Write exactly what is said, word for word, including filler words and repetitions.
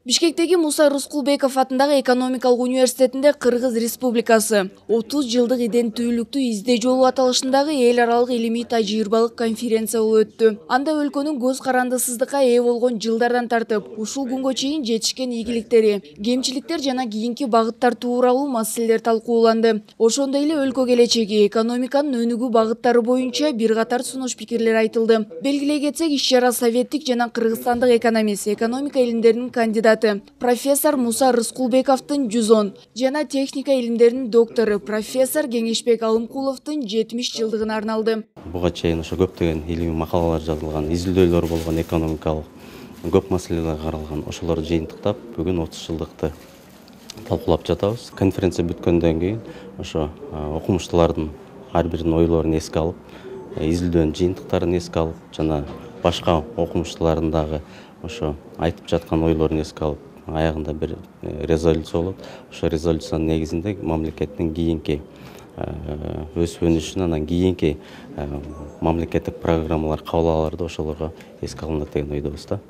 Бишкектеги Муса Рыскулбеков атындагы экономикалык университетинде Кыргыз Республикасы отуз жылдык иденттүүлүктү издөө жолу аталышындагы эл аралык илимий тажрыйбалык конференция болуп өттү. Анда өлкөнүн көз карандысыздыкка ээ болгон жылдардан тартып, ушул күнгө чейин жетишкен ийгиликтери, кемчиликтер жана кийинки багыттар тууралуу маселелер талкууланды. Ошондой эле өлкө келечеги, экономиканын өнүгүү багыттары боюнча бир катар сунуш пикирлер айтылды. Белгилей кетсек, иш-чара советтик жана кыргызстандык экономист, экономика илимдеринин кандидаты профессор Муса Рыскулбековдун жүз он жана техника илимдеринин доктору профессор Кеңешбек Алымкуловдун жетимиш жылдыгына арналды. Буга чейин ошо көптөгөн илимий макалалар жазылган, изилдөөлөр болгон, экономикалык көп маселелер каралган. Ошолорду жыйынтыктап, бүгүн отуз жылдыкты талкуулап жатабыз. Конференция бүткөндөн кийин ошо окумуштуулардын ар биринин ойлорун эске алып, изилдөөнүн жыйынтыктарын эске алып, жана башка окумуштуулардын дагы ошо айтып жаткан ойлорун эске алып, аягында бир резолюция болот. Ошо резолюциянын негизинде мамлекеттин кийинки өсүп өнүшүн, анан кийинки мамлекеттик программалар кабыл аларды ошолорго эске алынат деген ойдобуз да.